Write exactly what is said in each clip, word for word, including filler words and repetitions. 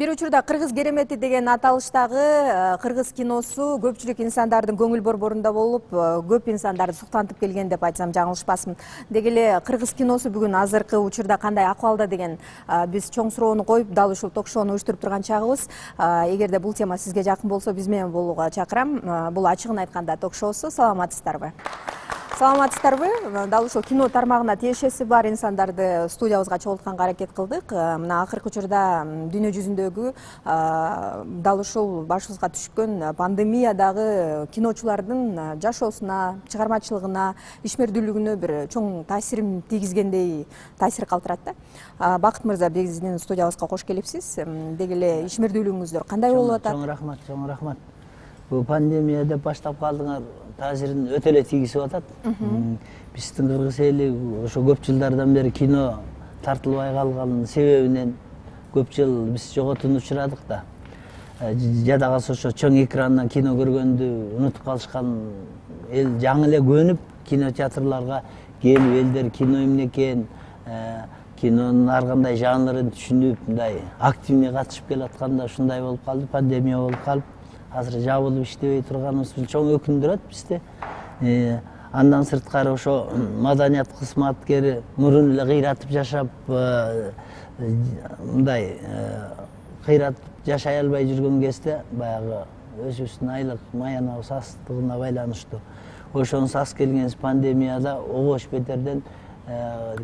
Бир учурда кыргыз керемети деген аталыштагы кыргыз киносу көпчүлүк инсандардын көңүл борборунда болуп, көп инсандарды суктантып келген деп айтсам жаңылышпасмын. Деги эле кыргыз киносу бүгүн азыркы учурда кандай акыбалда деген биз чоң суроону коюп, дал ушул ток-шоуну уюштуруп турган чагыбыз. Эгерде бул тема сизге жакын болсо, биз менен болууга чакырам. Бул ачыгын айтканда ток-шоусу. Саламатсыздарбы? Саламатсыздарбы? Дал ушул кино тармагына тиешеси бар инсандарды студиябызга чогултканга аракет кылдык. Мына акыркы учурда дүйнө жүзүндөгү дал ушул башыбызга түшкөн пандемиядагы киночулардын жашоосуна, чыгармачылыгына, ишмердүүлүгүнө бир чоң таасирин тийгизгендей таасир калтырат да. Бакыт мырза, биздин студиябызга кош келипсиз. Деги эле ишмердүүлүгүңүздөр кандай болуп атат? Чоң рахмат, чоң рахмат. Бул пандемия деп баштап калдыңар, таасирин өтө эле тийгизип атат. Биздин кыргыз эли ошо көп жылдардан бери кино тартылбай калганын себебинен көп жыл биз жоготууну учурадык да. Жадагасы ошо чоң экрандан кино көргөндү унутуп калышкан эл жаңы эле көнүп, кинотеатрларга келип, элдер кино эмне экен, кинонун ар кандай жанрын түшүнүп, мындай активный катышып келатканда ушундай болуп калды, пандемия болуп калып, азыр жабылып иштебей турганыбыз чоң өкүндүрөт бизди. Андан сырткары ошо маданият кызматкери мурун эле кыйратып жашап, мындай кыйратып жашай албай жүргөн кезде баягы өзүбүздүн айлык маянабыз астыгына байланыштуу. Ошонун аз келгенбиз пандемияда обош бетерден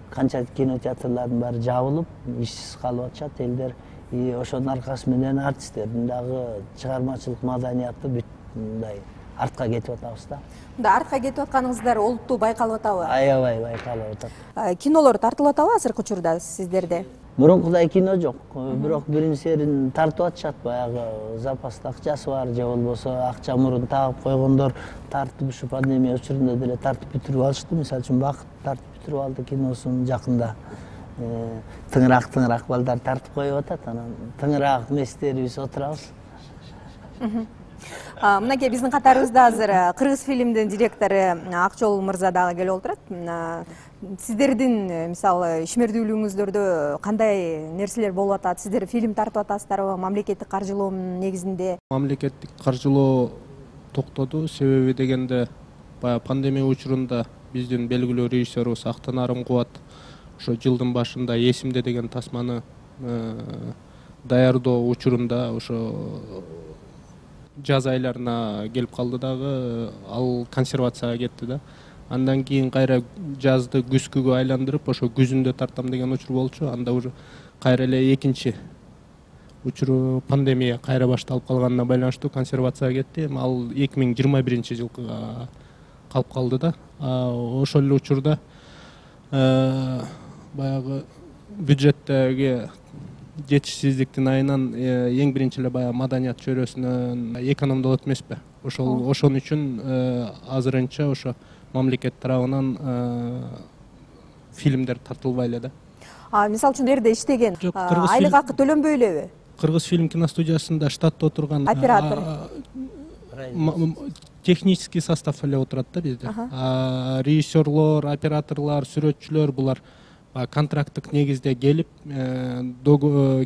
канча кинотеатрлардын баары жабылып, ишсиз калып атышат элдер. И ошонун аркасы менен артисттердин дагы чыгармачылык маданияты бүт мындай артка кетип атабыз да. Мында артка кетип атканыңыздар олуттуу байкалып атабы? Аябай байкалып атат. Кинолор тартылып атабы азыркы учурда сиздерде? Мурункудай кино жок. Бирок бирин серин тартып атышат, баягы запаста акчасы бар же болбосо акча мурун тагып койгондор тартып ушу пандемия учурунда деле тартып бүтүрүп алышты. Мисалы үчүн Бакыт тартып бүтүрүп алды киносун жакында. Тыңыраак тыңыраак балдар тартып коюп атат, анан тыңыраак эместерибиз отурабыз. Мынакей биздин катарыбызда азыр кыргыз фильмдин директору Акчол мырза дагы келип отурат. Сиздердин мисалы ишмердүүлүгүңүздөрдө кандай нерселер болуп атат? Сиздер фильм тартып атасыздарбы? Мамлекеттик каржылоонун негизинде? Мамлекеттик каржылоо токтоду. Себеби дегенде баягы пандемия учурунда биздин белгилүү режиссерубуз Актанарым Кубат ошо жылдын башында Эсимде деген тасманы даярдоо учурунда ошо жаз айларына келип калды дагы, ал консервацияга кетти да. Андан кийин кайра жазды күзгүгө айландырып, ошо күзүндө тартам деген учур болчу. Анда уже кайра эле экинчи учуру пандемия кайра башталып калганына байланыштуу консервацияга кетти. Ал эки миң жыйырма биринчи жылга калып калды да. Ошол эле учурда баягы бюджеттеги жетишсиздиктин айынан эң биринчи эле баягы маданият чөйрөсүнөн экономдолот эмеспи? Ошол ошон үчүн азырынча ошо мамлекет тарабынан фильмдер тартылбай эле да. Мисалы үчүн жерде иштеген айлык акы төлөнбөй элеби? Кыргыз фильм киностудиясында штатта отурган оператор, технический состав эле отурат да бизде. Режиссерлор, операторлор, сүрөтчүлөр булар контракттык негизде келип,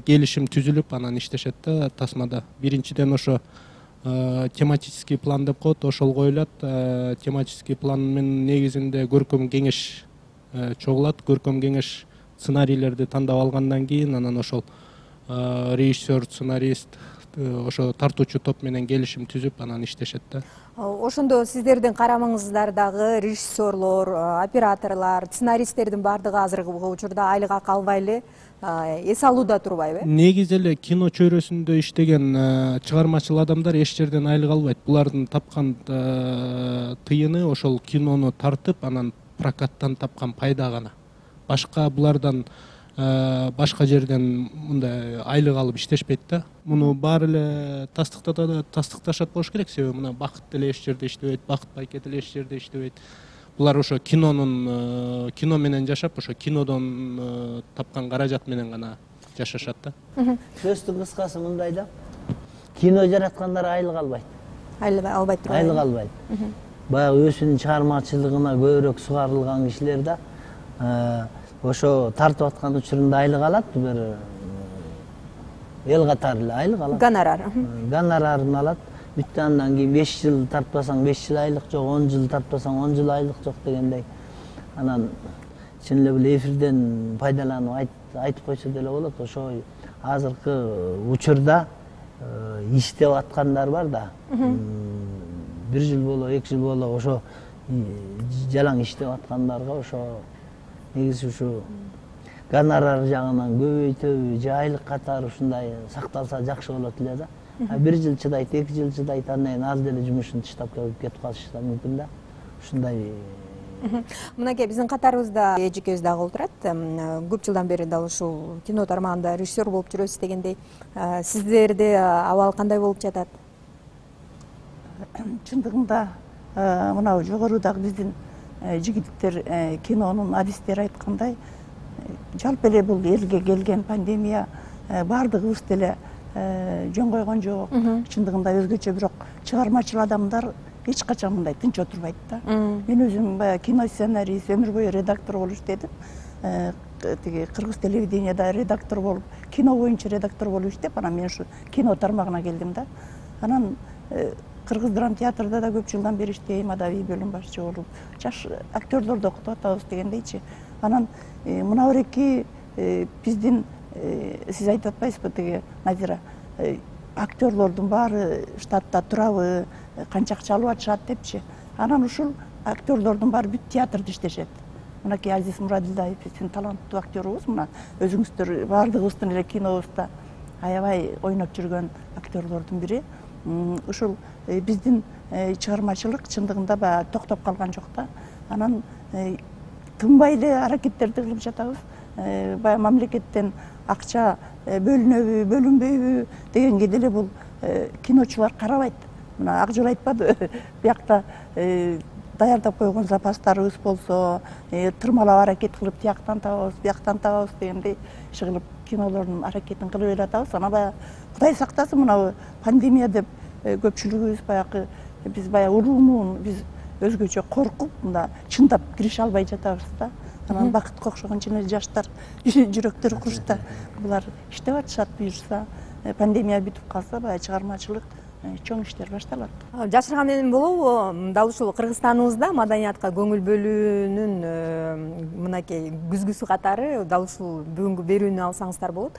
келишим түзүлүп, анан иштешет да тасмада. Биринчиден ошо тематический план деп коет, ошол коюлат. Тематический пландын негизинде көркөм кеңеш чогулат. Көркөм кеңеш сценарийлерди тандап алгандан кийин анан ошол режиссер, сценарист, ошо тартуучу топ менен келишим түзүп, анан иштешет да. Ошондо сиздердин карамыңыздардагы режиссерлор, операторлор, сценаристтердин баардыгы азыркы учурда айлык акы албай эле эс алууда турбайбы? Негизи эле кино чөйрөсүндө иштеген чыгармачыл адамдар эч жерден айлык албайт. Булардын тапкан тыйыны ошол кинону тартып, анан прокаттан тапкан пайда гана. Башка булардан башка жерден мындай айлык алып иштешпейт да. Муну баары эле тастыкташат болуш керек, себеби мына Бакыт деле эч жерде иштебейт, Бакыт байке деле эч жерде иштебейт. Булар ошо кинонун кино менен жашап, ошо кинодон тапкан каражат менен гана жашашат да. Сөздүн кыскасы мындай да. Кино жараткандар айлык албайт. Айлык албайт турбайбы? Айлык албайт. Баягы өзүнүн чыгармачылыгына көбүрөөк сугарылган кишилер да ошо тартып аткан учурунда айлык алат. Бир эл катары эле айлык алат. Гонорар. Гонорарын алат. Бүттү андан кийин беш жыл тартпасаң беш жыл айлык жок, он жыл тартпасаң он жыл айлык жок дегендей. Анан чын эле бул эфирден пайдаланып айтып койсо деле болот. Ошо азыркы учурда иштеп аткандар бар да. Бир жыл боло, эки жыл боло ошо жалаң иштеп аткандарга ошо негизи ушу гонорар жагынан көбөйтөбү же айлык катары ушундай сакталса жакшы болот эле да. Бир жыл чыдайт, эки жыл чыдайт, андан кийин аз деле жумушун таштап кетип калышы да мүмкүн да. Ушундай. Мынакей биздин катарыбызда эжекебиз дагы отурат. Көп жылдан бери дал ушул кино тармагында режиссер болуп жүрөсүз дегендей. Сиздерде абал кандай болуп жатат? Чындыгында мына жогорудагы биздин жигиттер, кинонун адистери айткандай, жалпы эле бул элге келген пандемия баардыгыбыз деле жөн койгон жок. Чындыгында өзгөчө, бирок чыгармачыл адамдар эч качан мындай тынч отурбайт да. Мен өзүм баягы кино сценарист, өмүр бою редактор болуп иштедим. Тиги кыргыз телевиденияда редактор болуп, кино боюнча редактор болуп иштеп, анан мен ушу кино тармагына келдим да. Анан Кыргыз драма театрда да көп жылдан бери иштейм, адабий бөлүм башчы болуп, жаш актерлорду окутуп атабыз дегендейчи. Анан мына бирки биздин, сиз айтып атпайсызбы тиги Назира, актерлордун баары штатта турабы, канча акча алып атышат депчи. Анан ушул актерлордун баары бүт театрда иштешет. Мынакей Азиз Мурадилдаев биздин таланттуу актерубуз, мына өзүңүздөр баардыгыбыздын эле кинобузда аябай ойноп жүргөн актерлордун бири. Ушул биздин чыгармачылык чындыгында баягы токтоп калган жок да. Анан тынбай эле аракеттерди кылып жатабыз. Баягы мамлекеттен акча бөлүнөбү, бөлүнбөйбү дегенге деле бул киночулар карабайт. Мына ак жол айтпады, биякта даярдап койгон запастарыбыз болсо, тырмалап аракет кылып тияктан табабыз, бияктан табабыз дегендей иш кылып кинолордун аракетин кылып эле атабыз. Анан баягы Кудай сактасын, мына пандемия деп көпчүлүгүбүз баягы биз баягы уруумун биз өзгөчө коркуп, мында чындап кирише албай жатабыз да. Анан бакытка окшогон чын эле жаштар жүрөктөрү курушта. Булар иштеп атышат, буюрса пандемия бүтүп калса, баягы чыгармачылык чоң иштер башталат. Жашырган эмне болобу, дал ушул Кыргызстаныбызда маданиятка көңүл бөлүүнүн мынакей күзгүсү катары дал ушул бүгүнкү берүүнү алсаңыздар болот.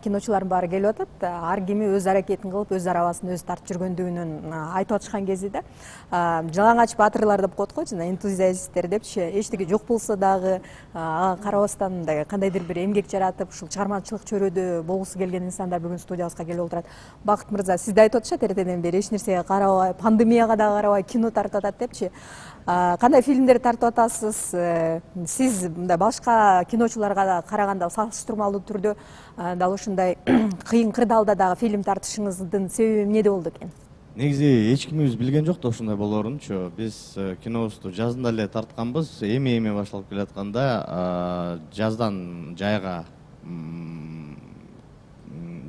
Киночулардын баары келип атат, ар кими өз аракетин кылып, өз арабасын өзү тартып жүргөндүгүнөн айтып атышкан кезде да жалаңач баатырлар деп коет го, жана энтузиасттер депчи, эчтеке жок болсо дагы ага карабастан мындай кандайдыр бир эмгек жаратып, ушул чыгармачылык чөйрөдө болгусу келген инсандар бүгүн студиябызга келип отурат. Бакыт мырза, сизде айтып атышат эртеден бери эч нерсеге карабай, пандемияга да карабай кино тартып атат депчи. Кандай фильмдерди тартып атасыз? Сиз мындай башка киночуларга да караганда салыштырмалуу түрдө дал ушундай кыйын кырдаалда дагы фильм тартышыңыздын себеби эмнеде болду экен? Негизи эч кимибиз билген жок да ушундай болоорунчу. Биз кинобузду жазында эле тартканбыз, эми-эми башталып келатканда жаздан жайга,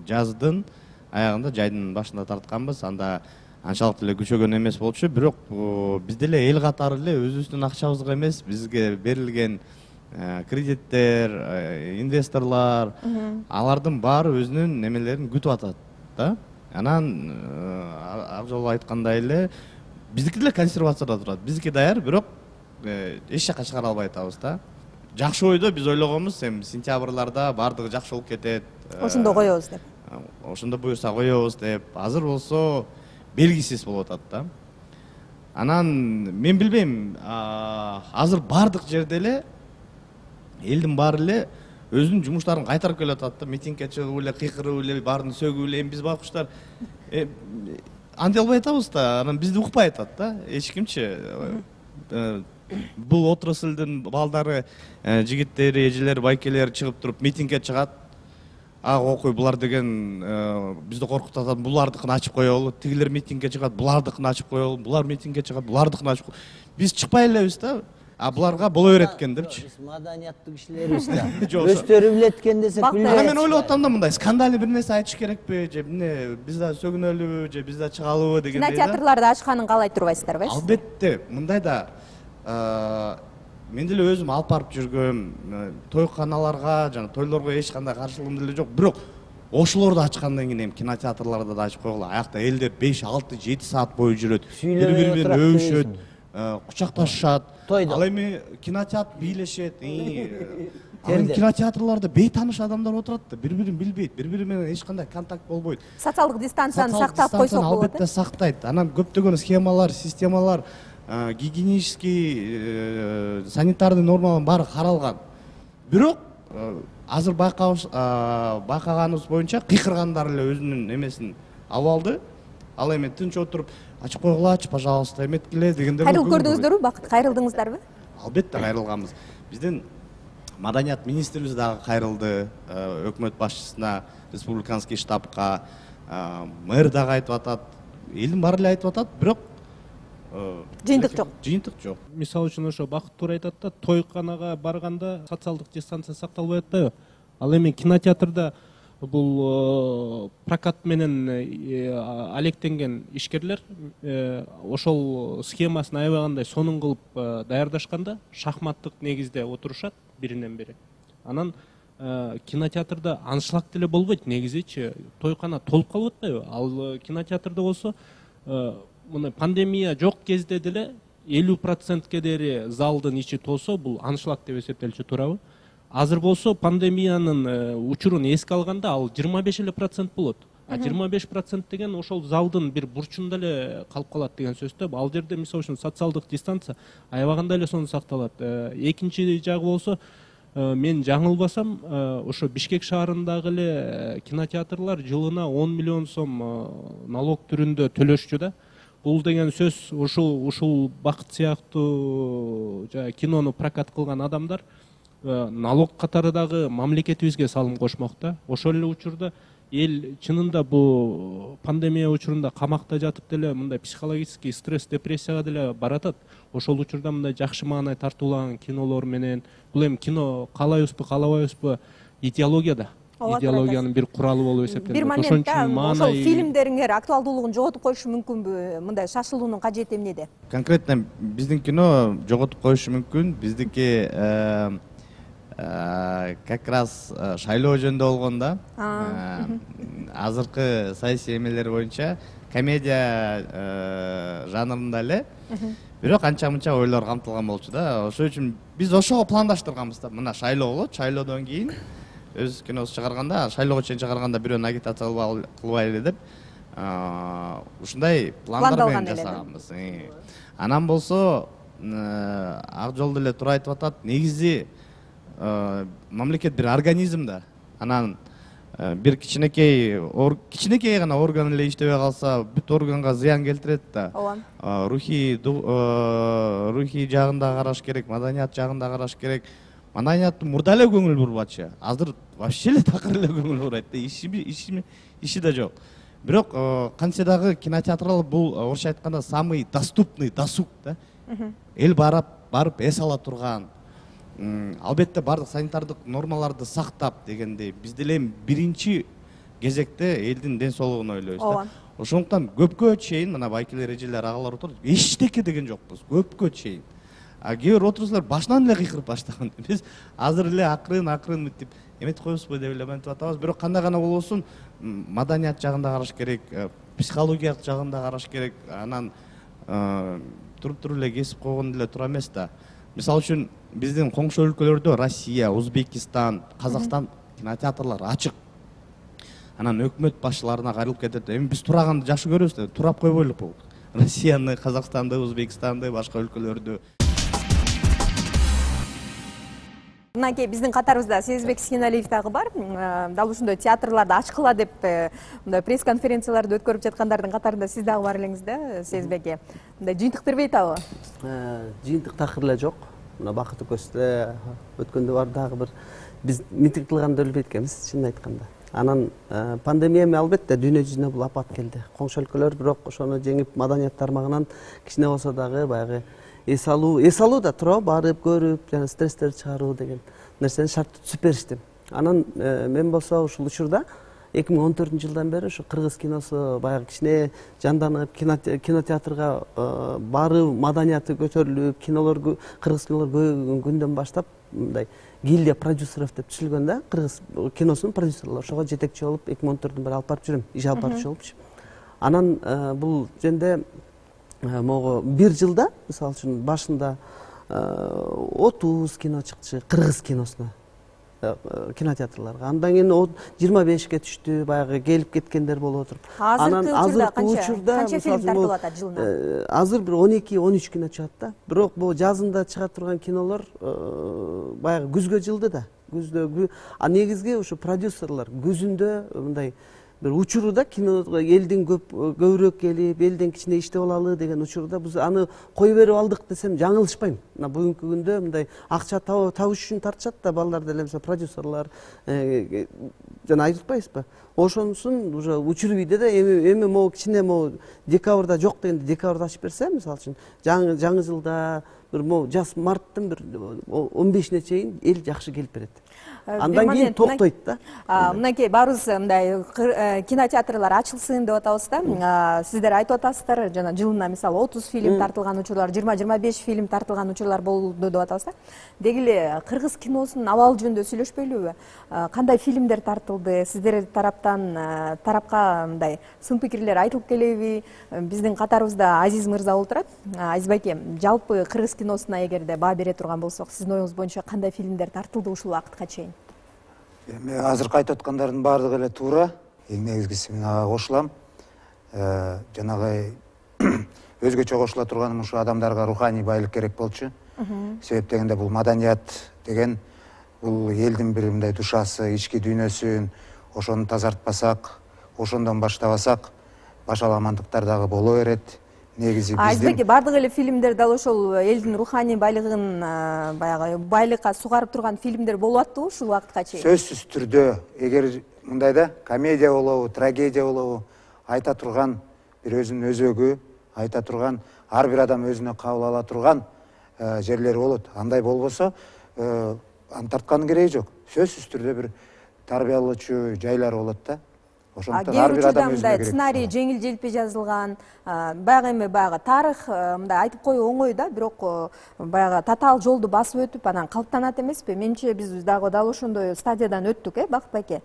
жаздын аягында жайдын башында тартканбыз. Анда анчалык эле күчөгөн эмес болчу, бирок биз деле эл катары эле өзүбүздүн акчабызга эмес, бизге берилген кредиттер, инвесторлор, алардын баары өзүнүн немелерин күтүп атат да. Анан ак жол айткандай эле биздики деле консервацияда турат. Биздики даяр, бирок эч жака чыгара албай атабыз да. Жакшы ойдо биз ойлогонбуз, эми сентябрларда баардыгы жакшы болуп кетет. Ошондо коебуз деп. Ошондо буюрса коебуз деп. Азыр болсо белгисиз болуп атат да. Анан мен билбейм, азыр баардык жерде эле элдин баары эле өзүнүн жумуштарын кайтарып келатат да. Митингге чыгып эле, кыйкырып эле, баарын сөгүп эле, эми биз байкуштар антип албай атабыз да. Анан бизди укпай атат да эч кимчи. Бул отраслдын балдары, жигиттери, эжелери, байкелери чыгып туруп митингге чыгат. А окуй, булар деген бизди коркутуп атат, булардыкын ачып коелу. Тигилер митингге чыгат, булардыкын ачып коелу. Булар митингге чыгат, булардыкын ачып коелу. Биз чыкпай элебиз да. А буларга боло берет экен депчи. Биз маданияттуу кишилерибиз да. Өздөрү билет экен десек билбейт. Ана мен ойлоп атам да, мындай скандальный бир нерсе айтыш керекпи, же эмне биз да сөгүнөлүбү, же биз да чыгалыбы дегендей да. Кинотеатрларды ачканын каалай турбайсыздарбы? Албетте, мындай да мен деле өзүм алып барып жүргөм, тойканаларга жана тойлорго эч кандай каршылыгым деле жок. Бирок ошолорду ачкандан кийин эми кинотеатрларда да ачып койгула. Аякта элдер беш алты жети саат бою жүрөт, бири бири менен өбүшөт, кучакташышат. Ал эми кинотеатр бийлешет. Ал эми кинотеатрларда бейтааныш адамдар отурат да, бири бирин билбейт, бири бири менен эч кандай контакт болбойт. Социалдык дистанцияны сактап койсок болот. Албетте сактайт. Анан көптөгөн схемалар, системалар, гигиенический, санитарный нормалар баары каралган. Бирок азыр байкаганыбыз боюнча кыйкыргандар эле өзүнүн эмесин алып алды. Ал эми тынч отуруп ачып койгулачы, пожалуйста, эметкиле дегендер. Кайрылып көрдүңүздөрбү? Бакыт, кайрылдыңыздарбы? Албетте кайрылганбыз. Биздин маданият министрибиз дагы кайрылды өкмөт башчысына, республиканский штабка, мэр дагы айтып атат, элдин баары эле айтып атат, бирок жыйынтык жок. Жыйынтык жок. Мисалы үчүн ошо Бакыт туура айтат да, тойканага барганда социалдык дистанция сакталбай атпайбы? Ал эми кинотеатрда бул прокат менен алектенген ишкерлер ошол схемасын аябагандай сонун кылып даярдашканда шахматтык негизде отурушат биринен бири. Анан кинотеатрда аншлаг деле болбойт негизичи, тойкана толуп калып атпайбы? Ал кинотеатрда болсо мына пандемия жок кезде деле элүү процентке дери залдын ичи толсо, бул аншлаг деп эсептелчү, туурабы? Азыр болсо пандемиянын учурун эске алганда ал жыйырма беш эле процент болот. А жыйырма беш процент деген ошол залдын бир бурчунда эле калып калат деген сөз да. Ал жерде мисалы үчүн социалдык дистанция аябагандай эле сонун сакталат. Экинчи жагы болсо, мен жаңылбасам, ошо Бишкек шаарындагы эле кинотеатрлар жылына он миллион сом налог түрүндө төлөшчү да. Бул деген сөз ушул ушул Бакыт сыяктуу кинону прокат кылган адамдар налог катары дагы мамлекетибизге салым кошмок да. Ошол эле учурда эл чынында бу пандемия учурунда камакта жатып деле мындай психологический стресс, депрессияга деле баратат. Ошол учурда мындай жакшы маанай тартуулаган кинолор менен, бул эми кино каалайбызбы, каалабайбызбы, идеология да. Идеологиянын бир куралы болуп эсептелет. Бир моментте ошол фильмдериңер актуалдуулугун жоготуп коюшу мүмкүнбү? Мындай шашылуунун кажети эмнеде? Конкретно биздин кино жоготуп коюшу мүмкүн. Биздики как раз шайлоо жөнүндө болгондо азыркы саясий эмелер боюнча комедия жанрында эле, бирок анча мынча ойлор камтылган болчу да. Ошол үчүн биз ошого пландаштырганбыз да. Мына шайлоо болот, шайлоодон кийин өз киносун чыгарганда, шайлоого чейин чыгарганда бирөөнү агитация кылбайлы деп ушундай пландар менен жасаганбыз. Анан болсо ак жолдо эле туура айтып атат, негизи мамлекет бир организм да. Анан бир кичинекей кичинекей гана орган эле иштебей калса, бүт органга зыян келтирет да. Рухий рухий жагын да караш керек, маданият жагын да караш керек. Маданият мурда эле көңүл бурбачы. Азыр вообще эле такыр эле көңүл бурайт да. Иши иши иши да жок. Бирок кантсе дагы кинотеатрал бул орусча айтканда самый доступный досуг да. Эл барып барып эс ала турган. Албетте бардык санитардык нормаларды сактап дегендей, биз деле биринчи кезекте элдин ден соолугун ойлойбуз да. Ошондуктан көпкө чейин мына байкелер, эжелер, агалар отуруп, эчтеке деген жокпуз, көпкө чейин. А кээ бир отурсуздар башынан эле кыйкырып баштаган. Биз азыр эле акырын акырын мынтип эметип коебузбу деп эле мынтип атабыз. Бирок кандай гана болбосун, маданият жагын да караш керек, психологиялык жагын да караш керек. Анан туруп туруп эле кесип койгон деле туура эмес да. Мисалы үчүн биздин коңшу өлкөлөрдө Россия, Өзбекистан, Казакстан кинотеатрлары ачык. Анан өкмөт башчыларына кайрылып кетет. Эми биз тураганды жакшы көрөбүз да, турап койбойлук бул. Россияны, Казакстанды, Өзбекстанды, башка өлкөлөрдү. Мынакей биздин катарыбызда Сезбек Синалиев дагы бар. Дал ушундай театрларды ачкыла деп мындай пресс-конференцияларды өткөрүп жаткандардын катарында сиз дагы бар элеңиз да, Сезбек э. Мындай жыйынтык бербейт абы? Жыйынтык такыр эле жок. Мына Бакыт экөөбүздө өткөндө бар дагы бир биз митинг кылганда өлбөйт экенбиз, чынын айтканда. Анан пандемия эми албетте дүйнө жүзүнө бул апат келди. Коңшу өлкөлөр бирок ошону жеңип маданият тармагынан кичине болсо дагы баягы эс алуу, эс алуу да туурабы, барып көрүп, жана стресстерди чыгаруу деген нерсени шарттуу түзүп беришти. Анан мен болсо ушул учурда эки миң он төртүнчү жылдан бери ушу кыргыз киносу баягы кичине жанданып, кинотеатрга барып, маданияты көтөрүлүп, кинолор кыргыз кинолор көбөйгөн күндөн баштап мындай гильдия продюсеров деп түзүлгөн да, кыргыз киносунун продюсерлери. Ошого жетекчи болуп эки миң он төрттөн бери алып барып жүрөм, иш алып барчу болупчу. Анан бул жөнүндө могу бир жылда мисалы үчүн башында отуз кино чыкчу кыргыз киносуна, кинотеатрларга. Андан кийин жыйырма бешке түштү, баягы келип кеткендер болуп отуруп. Азыркы учурда канча фильм тартылып атат жылына? Азыр бир он эки он үч кино чыгат да. Бирок бул жазында чыга турган кинолор баягы күзгө жылды да. Күздө, а негизги ушу продюсерлар күзүндө мындай бир учурда киного элдин көп көбүрөөк келип, элден кичине иштеп алалы деген учурда биз аны кое берип алдык десем жаңылышпайм. Мына бүгүнкү күндө мындай акча табыш үчүн тартышат да балдар деле, продюсерлар жана айтып атпайбызбы? Ошонусун уже учур бийде да, эми эми могу кичине могу декабрда жок дегенде декабрда ачып берсе, мисалы үчүн жаңы жаңы жылда бир могу жаз марттын бир он бешине чейин эл жакшы келип берет. Андан кийин токтойт да. Мынакей баарыбыз мындай кинотеатрлар ачылсын деп атабыз да. Сиздер айтып атасыздар, жана жылына мисалы отуз фильм тартылган учурлар, жыйырма жыйырма беш фильм тартылган учурлар болду деп атабыз да. Деги эле кыргыз киносунун абалы жөнүндө сүйлөшпөйлүбү? Кандай фильмдер тартылды? Сиздер тараптан тарапка мындай сын пикирлер айтылып келеби? Биздин катарыбызда Азиз мырза отурат. Азиз байке, жалпы кыргыз киносуна эгерде баа бере турган болсок, сиздин оюңуз боюнча кандай фильмдер тартылды ушул убакытка чейин? Эми азыркы айтып аткандардын баардыгы эле туура. Эң негизгиси мен ага кошулам. Жанагы өзгөчө кошула турганым ушу адамдарга руханий байлык керек болчу. Себеп дегенде бул маданият деген бул элдин бир мындай душасы, ички дүйнөсүн ошону тазартпасак, ошондон баштабасак, башаламандыктар дагы боло берет. Негизи биздин Азбеки бардык эле фильмдер дал ошол элдин руханий байлыгын баягы байлыкка сугарып турган фильмдер болуп аттыбы ушул убакытка чейин? Сөзсүз түрдө, эгер мындай да комедия болобу, трагедия болобу, айта турган бир өзүнүн өзөгү, айта турган ар бир адам өзүнө кабыл ала турган жерлери болот. Андай болбосо, аны тарткандын кереги жок. Сөзсүз түрдө бир тарбиялоочу жайлар болот да. Ошондуктан ар бир адам өзүнө керек. Сценарий жеңил-желпи жазылган, баягы эми баягы тарых мындай айтып коюу оңой да, бирок баягы татаал жолду басып өтүп анан калыптанат эмеспи? Менимче биз дагы дал ошондой стадиядан өттүк, э, Бакыт байке.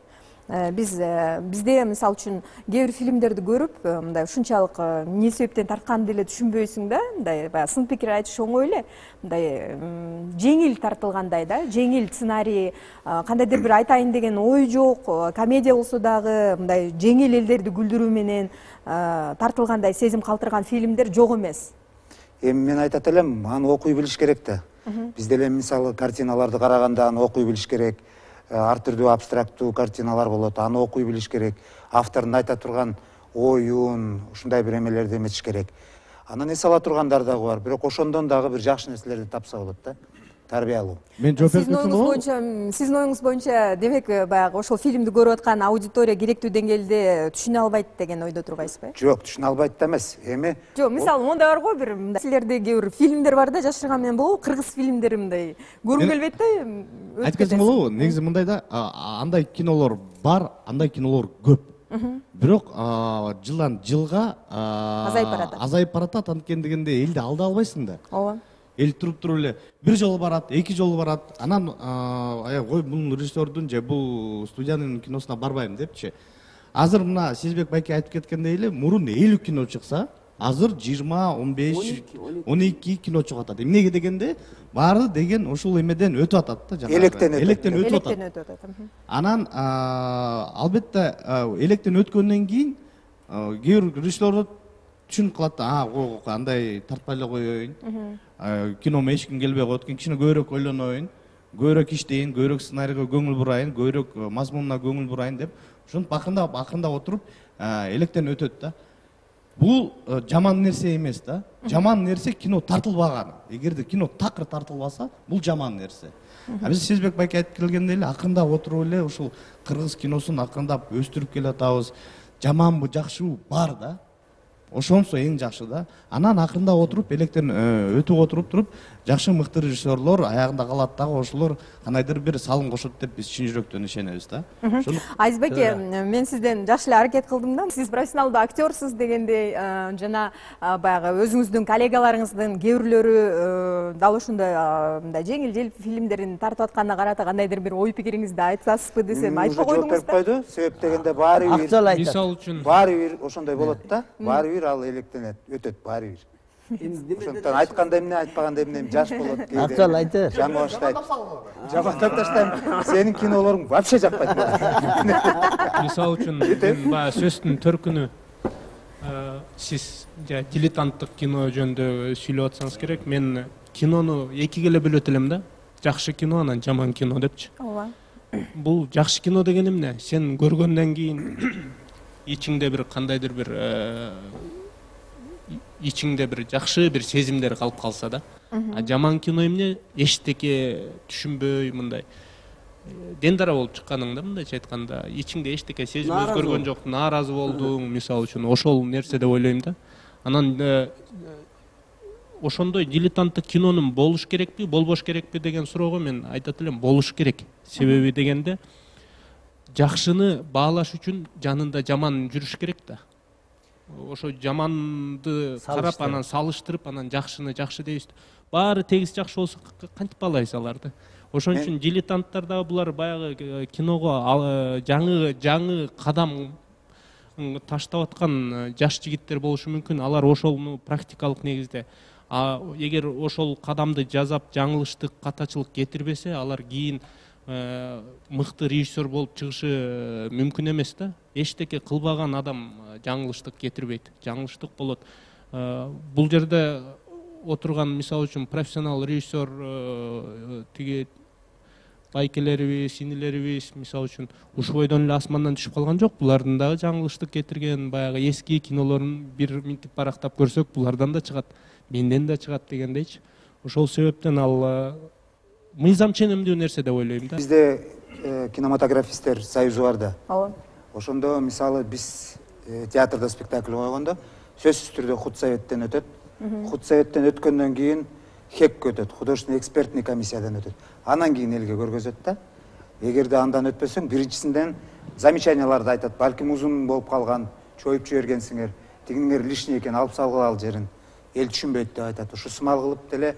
Биз бизде мисалы үчүн кээ бир фильмдерди көрүп, мындай ушунчалык эмне себептен тартканын деле түшүнбөйсүң да, мындай баягы сын пикир айтыш оңой эле, мындай жеңил тартылгандай да, жеңил сценарий, кандайдыр бир айтайын деген ой жок, комедия болсо дагы мындай жеңил элдерди күлдүрүү менен тартылгандай сезим калтырган фильмдер жок эмес. Эми мен айтат элем, аны окуй билиш керек да. Биз деле мисалы картиналарды караганда аны окуй билиш керек. Ар түрдүү абстрактуу картиналар болот, аны окуй билиш керек. Автордун айта турган оюн, ушундай бир эмелерди эметиш керек. Анан эс ала тургандар дагы бар, бирок ошондон дагы бир жакшы нерселерди тапса болот да. Тарбиялуу. Мен жооп берип кетсем болобу? Сиздин оюңуз боюнча, демек баягы ошол фильмди көрүп аткан аудитория керектүү деңгээлде түшүнө албайт деген ойдо турбайсызбы? Жок, түшүнө албайт да эмес. Эми жок, мисалы мондай бар го, бир силерде кээ бир фильмдер бар да, жашырган менен болобу, кыргыз фильмдери мындай көргүм келбейт да. Айтып кетсем болобу? Негизи мындай да, андай кинолор бар, андай кинолор көп. Бирок жылдан жылга азайып баратат. Азайып баратат, анткени дегенде элди алда албайсың да. Ооба. Эл туруп туруп эле бир жолу барат, эки жолу барат. Анан ой, бул режиссердун же бул студиянын киносуна барбайм депчи. Азыр мына Сезбек байке айтып кеткендей эле, мурун элүү кино чыкса, азыр жыйырма, он беш, он эки кино чыгып атат. Эмнеге дегенде, баары деген ушул эмеден өтүп атат да, жанагы. Электен өтүп атат. Электен өтүп атат. Анан албетте электен өткөндөн кийин кээ бир режиссерлор түшүнүп калат да, а, андай тартпай эле коеюн. Киномо эч ким келбей коет экен, кичине көбүрөөк ойлоноюн, көбүрөөк иштейин, көбүрөөк сценарийге көңүл бурайын, көбүрөөк мазмунуна көңүл бурайын деп, ошентип акырындап акырындап отуруп электен өтөт да. Бул жаман нерсе эмес да. Жаман нерсе кино тартылбаган. Эгерде кино такыр тартылбаса, бул жаман нерсе. А биз Сезбек байке айтып келгендей эле акырындап отуруп эле ушул кыргыз киносун акырындап өстүрүп келатабыз. Жаманбы, жакшыбы бар да. ошонсо эң жакшы да. Анан акырында отуруп электен өтүп отуруп туруп жакшы мыкты режиссерлор аягында калат дагы, ошолор кандайдыр бир салым кошот деп биз чын жүрөктөн ишенебиз да. Азиз Беке, мен сизден жакшы эле аракет кылдым да. Сиз профессионалдуу актёрсуз дегендей, жана баягы өзүңүздүн коллегаларыңыздын кээ бирлөрү дал ошондой мындай жеңил-желп фильмдерин тартып атканына карата кандайдыр бир ой пикириңизди айтасызбы десем, айтпай койдуңуз да. койду. Себеп дегенде баары бир Актуал айтат. Мисалы үчүн баары бир ошондой болот да. Баары бир ал электенет, өтөт баары бир. Ошондон айтканда эмне, айтпаганда эмне жаш болот кээде. Актуал айтыр. Жаңы баштайт. Жамандап таштайм. Сенин кинолоруң вообще жакпайт. мисалы үчүн мен баягы сөздүн төркүнү сиз дилетанттык кино жөнүндө сүйлөп атсаңыз керек. Мен кинону экиге эле бөлөт элем да. Жакшы кино анан жаман кино депчи. Ооба. Бул жакшы кино деген эмне? Сен көргөндөн кийин ичиңде бир кандайдыр бир ичиңде бир жакшы бир сезимдер калып калса да. А жаман кино эмне? Эчтеке түшүнбөй мындай дендара болуп чыкканың да, мындайча айтканда, ичиңде эчтеке сезим өзгөргөн жок, нааразы болдуң, мисалы үчүн, ошол нерсе деп ойлойм да. Анан ошондой дилетанттык кинонун болуш керекпи, болбош керекпи деген суроого мен айтат элем, болуш керек. Себеби дегенде жакшыны баалаш үчүн жанында жаман жүрүш керек да. Ошо жаманды карап, анан салыштырып, анан жакшыны жакшы дейбиз. Баары тегиз жакшы болсо кантип баалайбыз аларды? Ошон үчүн дилетанттар дагы булар баягы киного жаңы жаңы кадам таштап аткан жаш жигиттер болушу мүмкүн. Алар ошону практикалык негизде, а эгер ошол кадамды жасап жаңылыштык, катачылык кетирбесе, алар кийин мыкты режиссер болуп чыгышы мүмкүн эмес да. Эчтеке кылбаган адам жаңылыштык кетирбейт, жаңылыштык болот. Бул жерде отурган, мисалы үчүн, профессионал режиссер тиги байкелерибиз, инилерибиз, мисалы үчүн, ушубойдон эле асмандан түшүп калган жок. Булардын дагы жаңылыштык кетирген баягы эски кинолорун бир минтип барактап көрсөк, булардан да чыгат, менден да чыгат дегендейчи. Ошол себептен ал мыйзам ченемдүү нерсе деп ойлойм да. Бизде кинематографисттер союзу бар да. Ооба. Ошондо мисалы биз театрда спектакль койгондо сөзсүз түрдө худсоветтен өтөт. Худсоветтен өткөндөн кийин хек өтөт, художественный экспертный комиссиядан өтөт. Анан кийин элге көргөзөт да. Эгерде андан өтпөсөң, биринчисинден замечанияларды айтат. Балким узун болуп калган, чоюп жибергенсиңер, тигиңер лишний экен, алып салгыла ал жерин. Эл түшүнбөйт деп айтат. Ушу сымал кылып деле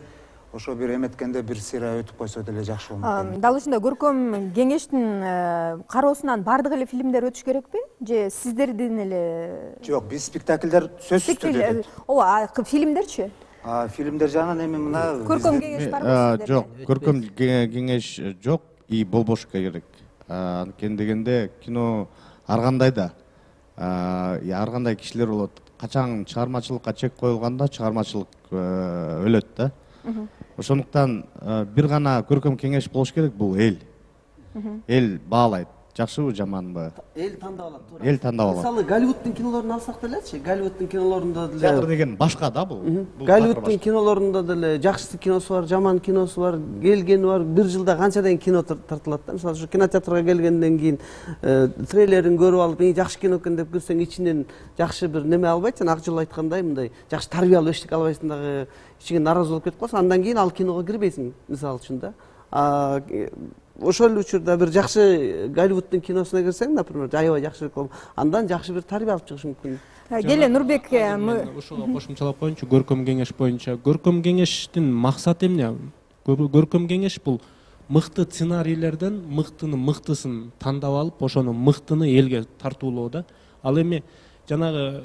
ошо бир эметкенде бир сыйра өтүп койсо деле жакшы болмок. Дал ушундай көркөм кеңештин кароосунан бардык эле фильмдер өтүш керекпи? Же сиздердин эле? Жок, биз спектакльдер сөзсүз түрдө. Ооба, фильмдерчи? А фильмдер жагынан эми мына көркөм кеңеш барбы сиздерде? Жок, көркөм кеңеш жок и болбош керек. Анткени дегенде кино ар кандай да, ар кандай кишилер болот. Качан чыгармачылыкка чек коюлганда чыгармачылык өлөт да. Ошондуктан бир гана көркөм кеңеш болуш керек, бул эл. Эл баалайт, жакшыбы, жаманбы? Эл тандап алат, туура. Эл тандап алат. Мисалы, Голливудтун кинолорун алсак делечи, Голливудтун кинолорунда деле театр деген башка да бул. Голливудтун кинолорунда деле жакшы киносу бар, жаман киносу бар, келгени бар. Бир жылда канчадан кино тартылат да. Мисалы, ушу кинотеатрга келгенден кийин трейлерин көрүп алып, эң жакшы кино экен деп көрсөң, ичинен жакшы бир неме албайт, жана ак жыл айткандай, мындай жакшы тарбиялуу эчтеке албайсың дагы, ичиңе нааразы болуп кетип калсаң, андан кийин ал киного кирбейсиң, мисалы үчүн да. Ошол учурда бир жакшы Голливудтун киносуна кирсең, например, аябай жакшы болуп, андан жакшы бир тарбия алып чыгыш мүмкүн. Келе Нурбек, ошого кошумчалап коеюнчу, көркөм кеңеш боюнча. Көркөм кеңештин максаты эмне? Көркөм кеңеш бул мыкты сценарийлерден мыктыны мыктысын тандап алып, ошону мыктыны элге тартуулоо да. Ал эми жанагы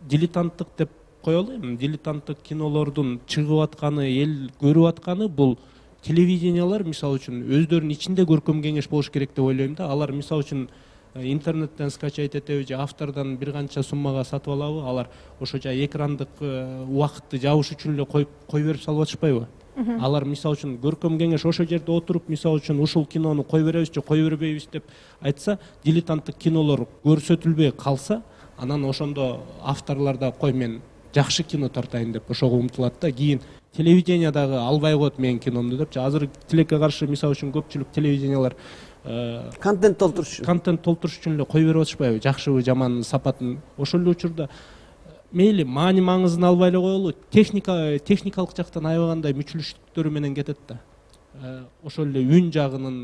дилетанттык деп коелу эми, дилетанттык кинолордун чыгып атканы, эл көрүп атканы бул телевидениялар, мисалы үчүн, өздөрүнүн ичинде көркөм кеңеш болуш керек деп ойлойм да. Алар мисалы үчүн интернеттен скачать этеби же автордон бир канча суммага сатып алабы, алар ошо жай экрандык убакытты жабыш үчүн эле коюп кой берип салып атышпайбы? Алар мисалы үчүн көркөм кеңеш ошо жерде отуруп, мисалы үчүн ушул кинону кой беребиз же кой бербейбиз деп айтса, дилетанттык кинолор көрсөтүлбөй калса, анан ошондо авторлор да кой мен жакшы кино тартайын деп ошого умтулат да. Кийин телевидение дагы албай коет менин киномду депчи. Азыр тилекке каршы, мисалы үчүн, көпчүлүк телевидениялар контент толтуруш үчүн контент толтуруш үчүн эле кой берип атышпайбы? Жакшыбы, жаман сапатын. Ошол эле учурда мейли маани маңызын албай эле коелу, техника техникалык жактан аябагандай мүчүлүштүктөрү менен кетет да. Ошол эле үн жагынын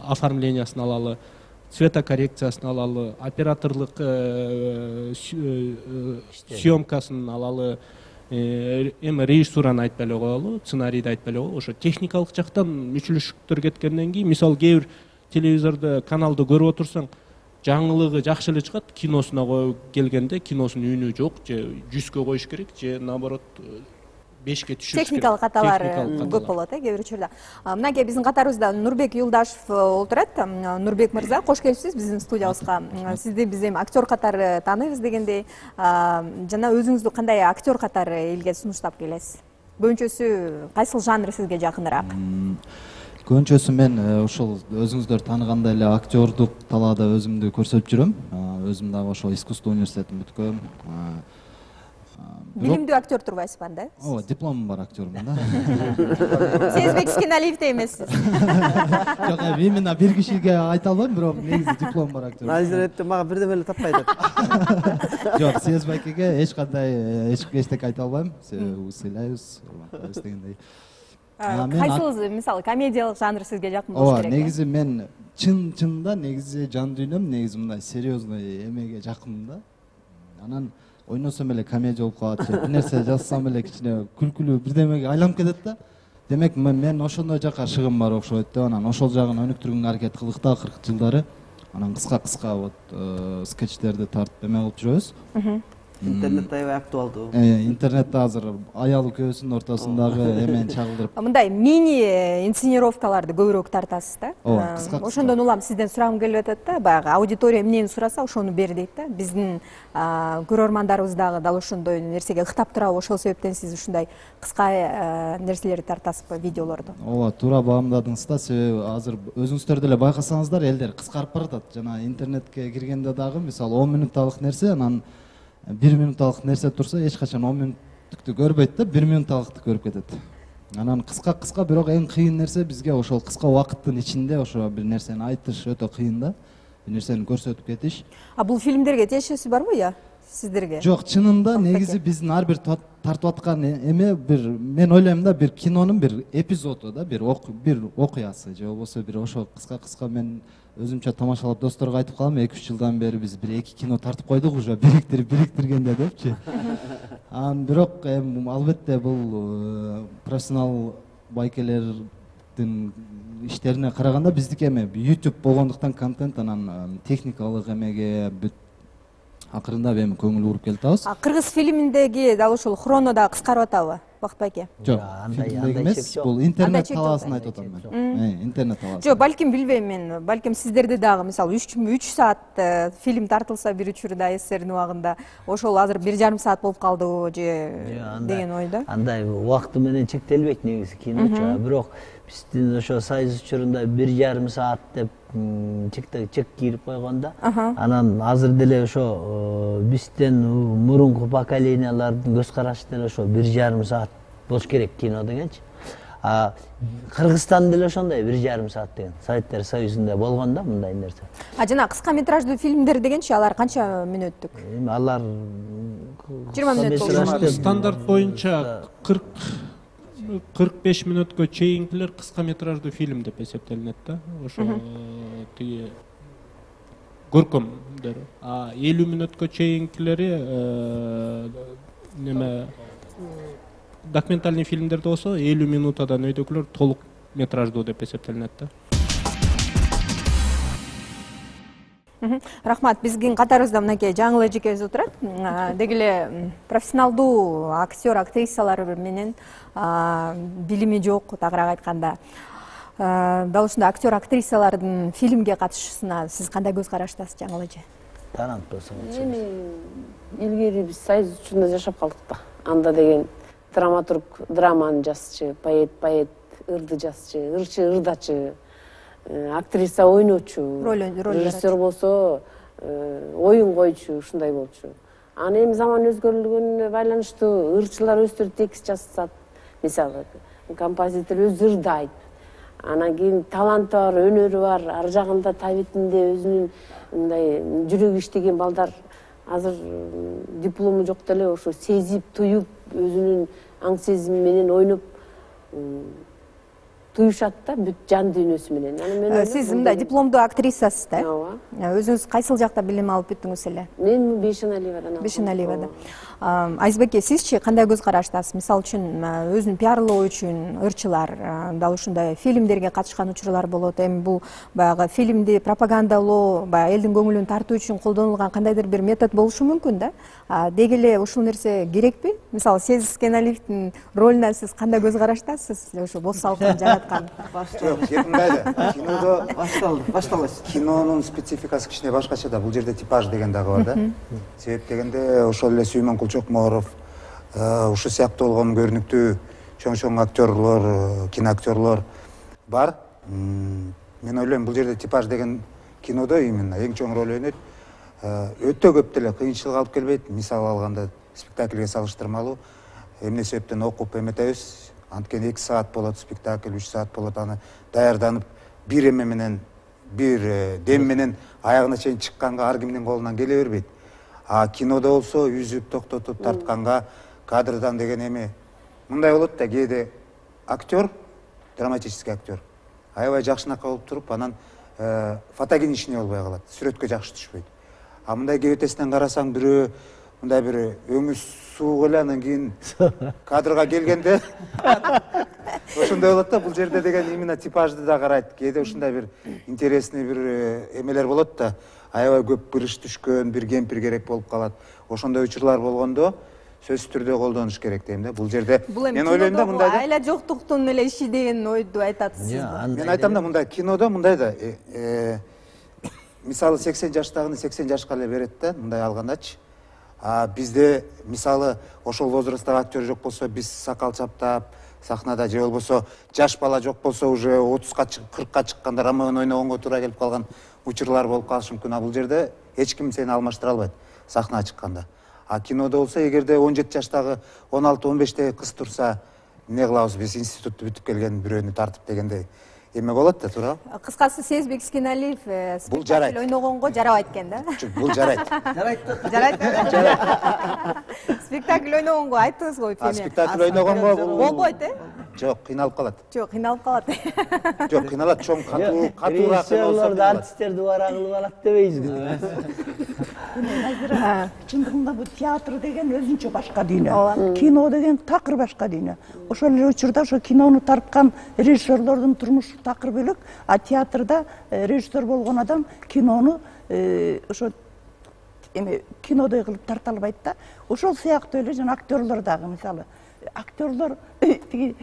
оформлениясын алалы, цветокоррекциясын алалы, операторлук съемкасын алалы, эми режиссураны айтпай эле коелу, сценарийди айтпай эле коелу, ошо техникалык жактан мүчүлүштүктөр кеткенден кийин, мисалы кээ бир телевизордо каналды көрүп отурсаң, жаңылыгы жакшы эле чыгат, киносуна келгенде киносунун үнү жок, же жүзгө коюш керек, же наоборот бешке түшүрүш керек. Техникалык каталар көп болот, э, кээ бир учурда. Мынакей биздин катарыбызда Нурбек Юлдашев отурат. Нурбек мырза, кош келипсиз биздин студиябызга. Сизди биз эми актер катары тааныйбыз дегендей, жана өзүңүздү кандай актер катары элге сунуштап келесиз? Көбүнчөсү кайсыл жанр сизге жакыныраак? Көбүнчөсү мен ошол өзүңүздөр тааныгандай эле актердук талаада өзүмдү көрсөтүп жүрөм. Өзүм дагы ошол искусство университетин бүткөм. Билимдүү актер турбайсызбы анда? Ооба, дипломум бар актермун да. Сезбек Скеналиевдей эмессиз. Жок, именно бир кишиге айта албайм, бирок негизи диплом бар актер. Назиретти мага бирдеме эле таппай атат. Жок, Сезбекеге эч кандай эчтеке айта албайм. Сыйлайбыз, дегендей. Кайсыл мисалы комедиялык жанр сизге жакын болуш керек? Ооба, негизи мен чын чынында негизи жан дүйнөм негизи мындай серьезный эмеге жакынмын да. Анан ойносом эле комедия болуп калат, бир нерсе жазсам эле кичине күлкүлүү бирдемеге айланып кетет да. Демек мен ошондой жакка шыгым бар окшойт да. Анан ошол жагын өнүктүргөнгө аракет кылдык да акыркы жылдары. Анан кыска-кыска вот скетчтерди тартып эме кылып жүрөбүз. Интернетте аябай актуалдуу. Интернетте азыр аялы көбүсүнүн ортосундагы эмени чагылдырып. Мындай мини инсценировкаларды көбүрөөк тартасыз да. Ооба, кыска-кыска. Ошондон улам сизден сурагым келип атат да, баягы аудитория эмнени сураса ошону бер дейт да. Биздин көрөрмандарыбыз дагы дал ошондой нерсеге ыктап турабы, ошол себептен сиз ушундай кыска нерселерди тартасызбы, видеолорду? Ооба, туура баамдадыңыз да, себеби азыр өзүңүздөр деле байкасаңыздар, элдер кыскарып баратат. Жана интернетке киргенде дагы мисалы он минутталык нерсе, анан бир минутталык нерсе турса эч качан он минуттукту көрбөйт да, бир минутталыкты көрүп кетет. Анан кыска-кыска, бирок эң кыйын нерсе бизге ошол кыска убакыттын ичинде ошо бир нерсени айтыш өтө кыйын да. Бир нерсени көрсөтүп кетиш. А бул фильмдерге тиешеси барбы я сиздерге? Жок, чынында негизи биздин ар бир тартып аткан эме бир, мен ойлойм да, бир кинонун бир эпизоду да, бир бир окуясы же болбосо бир ошо кыска-кыска мен өзүмчө тамашалап досторго айтып калам, эки үч жылдан бери биз бир эки кино тартып койдук уже, бириктирип бириктиргенде депчи. Анан бирок эми албетте бул профессионал байкелердин иштерине караганда биздики эме YouTube болгондуктан контент анан техникалык эмеге бүт акырындап эми көңүл буруп келатабыз. Кыргыз фильминдеги дал ушул хроно да кыскарып атабы, Бакыт байке? Жок, фильмдеги эмес, бул интернет талаасын айтып атам мен. Интернет талаасы. Жок, балким билбейм мен. Балким сиздерде дагы мисалы үч саат фильм тартылса бир учурда СССРдин убагында, ошол азыр бир жарым саат болуп калдыбы же деген ойдо. Андай убакыты менен чектелбейт негизи киночу, бирок биздин ошо Союз учурунда бир жарым саат деп чек кирип койгондо, анан азыр деле ошо бизден мурунку поколениялардын көз карашы деле ошо бир жарым саат болуш керек кино дегенчи. А Кыргызстан деле ошондой бир жарым саат деген. Советтер Союзунда болгон да мындай нерсе. А жана кыска метраждуу фильмдер дегенчи алар канча мүнөттүк? Эми алар жыйырма мүнөт болушу. Стандарт боюнча кырк кырк беш мүнөткө чейинкилер кыска метраждуу фильм деп эсептелинет да. Ошо тиги көркөмдөр. А элүү мүнөткө чейинкилери неме документальный фильмдерде болсо элүү минутадан өйдөгүлөр толук метраждуу деп эсептелинет да. Рахмат, биздин катарыбызда мынакей жаңыл эжекебиз отурат. Деги эле профессионалдуу актер, актрисалар менен билими жок, тагыраак айтканда. Дал ушундай актер, актрисалардын фильмге катышуусуна сиз кандай көз караштасыз, жаңыл эже? Тананып койсоңуз. Эми илгери биз Союз учурунда жашап калдык да. Анда деген драматург драманы жазчы, поэт поэт ырды жазчы, ырчы ырдачы, актриса ойночу, режиссер болсо оюн койчу, ушундай болчу. Аны эми заман өзгөрүлгөнүнө байланыштуу ырчылар өздөрү текст жазышат. Мисалы, композитор өзү ырдайт. Анан кийин таланты бар, өнөрү бар, ар жагында табитинде өзүнүн мындай жүрөгү иштеген балдар азыр диплому жок деле ошо сезип туюп өзүнүн аң сезими менен ойноп туюшат да бүт жан дүйнөсү менен. Анан мен сиз мындай дипломдуу актрисасыз да? Ооба. Өзүңүз кайсыл жакта билим алып бүттүңүз эле? Мен Бейшеналиевадан алдым. Бейшеналиевада. Айзбеке, сизчи кандай көз караштасыз? Мисалы үчүн өзүн пиарлоо үчүн ырчылар дал ушундай фильмдерге катышкан учурлар болот. Эми бул баягы фильмди пропагандалоо, баягы элдин көңүлүн тартуу үчүн колдонулган кандайдыр бир метод болушу мүмкүн да. Деги эле ушул нерсе керекпи? Мисалы, Сезик Скеналивдин ролуна сиз кандай көз караштасыз? Ошо бос салкын жараткан. Жок, мындай да. Кинодо башталды, башталабыз. Кинонун спецификасы кичине башкача да. Бул жерде типаж деген дагы бар да. Себеп дегенде ошол эле Сүймөн Чокморов, ушу сыяктуу болгон көрүнүктүү чоң-чоң актерлор, киноактерлор бар. Мен ойлойм, бул жерде типаж деген кинодо именно эң чоң роль ойнойт. Өтө көп деле кыйынчылык алып келбейт. Мисал алганда спектакльге салыштырмалуу эмне себептен окуп эметебиз. Анткени эки саат болот спектакль, үч саат болот, аны даярданып бир эме менен, бир дем менен аягына чейин чыкканга ар кимдин колунан келе бербейт. А кинодо болсо үзүп токтотуп тартканга кадрдан деген эми мындай болот да, кээде актер, драматический актер аябай жакшынакай болуп туруп, анан фотогеничный болбой калат, сүрөткө жакшы түшпөйт. А мындай кебетесинен карасаң, бирөө мындай бир өңү суук эле, анан кийин кадрга келгенде ошондой болот да. Бул жерде деген именно типажды да карайт. Кээде ушундай бир интересный бир эмелер болот да, аябай көп кырыш түшкөн бир кемпир керек болуп калат. Ошондой учурлар болгондо сөзсүз түрдө колдонуш керек дейм да. Бул жерде мен ойлойм да, мындай да, айла жоктуктун эле иши деген ойду айтатсызбы? Мен айтам да, мындай кинодо мындай да, мисалы сексен жаштагыны сексен жашка эле берет да, мындай алгандачы. А бизде мисалы ошол возрасттагы актер жок болсо, биз сакал чаптап сахнада, же болбосо жаш бала жок болсо, уже отузга кыркка чыкканда Ромеону ойногонго туура келип калган учурлар болуп калышы мүмкүн. А бул жерде эч ким сени алмаштыра албайт сахнага чыкканда. А кинодо болсо, эгерде он жети жаштагы, он алты он бештеги кыз турса, эмне кылабыз биз, институтту бүтүп келген бирөөнү тартып дегендей эме болот да, туурабы? Кыскасы, Сезик Скеналиев спектакль ойногонго жарабайт экен да? Бул жарайт. Жарайт. Жарайт. Спектакль ойногонго айттыңыз го. А спектакль ойногонго болбойт, э? Жок, кыйналып калат. Жок, кыйналып калат. Жок, кыйналат, чоң катуу, катуураак режиссерлорду артисттерди бара кылып алат дебейсизби? Чындыгында бул театр деген өзүнчө башка дүйнө. Кино деген такыр башка дүйнө. Ошол эле учурда ошо кинону тарткан режиссерлордун турмушу такыр бөлөк, а театрда режиссер болгон адам кинону ошо эме кинодой кылып тарта албайт да. Ошол сыяктуу эле жана актерлор дагы, мисалы, актерлор тиги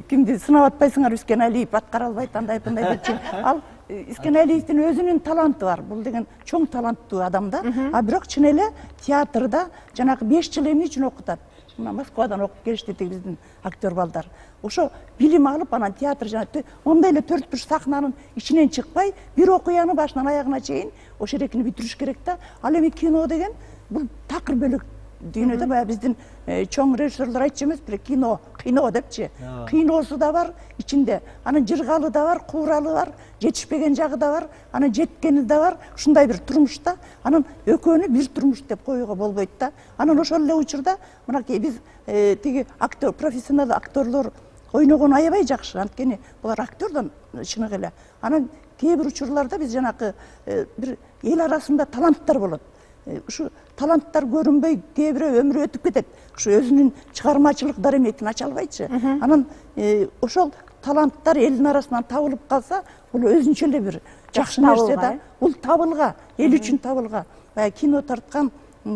кимди сынап атпайсыңар, Скеналиев аткара албайт, андай мындай депчи. Ал Скеналиевдин өзүнүн таланты бар. Бул деген чоң таланттуу адам да. А бирок чын эле театрда жанагы беш жыл эмне үчүн окутат? Мына Москвадан окуп келишти биздин актер балдар. Ошо билим алып, анан театр жана ондай эле төрт буш сахнанын ичинен чыкпай, бир окуяны башынан аягына чейин ошо эрекини бүтүрүш керек да. Ал эми кино деген бул такыр бөлөк дүйнөдө. Баягы биздин чоң режиссерлор айтчу эмеспи, кино, кино депчи. Киносу да бар ичинде, анан жыргалы да бар, кууралы бар, жетишпеген жагы да бар, анан жеткени да бар. Ушундай бир турмушта, анан экөөнү бир турмуш деп коюуга болбойт да. Анан ошол эле учурда мынакей биз тиги актер, профессионал актерлор ойногон аябай жакшы, анткени булар актердон чыныгы эле. Анан кээ бир учурларда биз жанакы бир эл арасында таланттар болот. Ушу таланттар көрүнбөй, кээ бирөө өмүрү өтүп кетет. Ушу өзүнүн чыгармачылык дареметин ача албайчы. Анан ошол таланттар элдин арасынан табылып калса, бул өзүнчө эле бир жакшы нерсе да. Бул табылга, эл үчүн табылга. Баягы кино тарткан,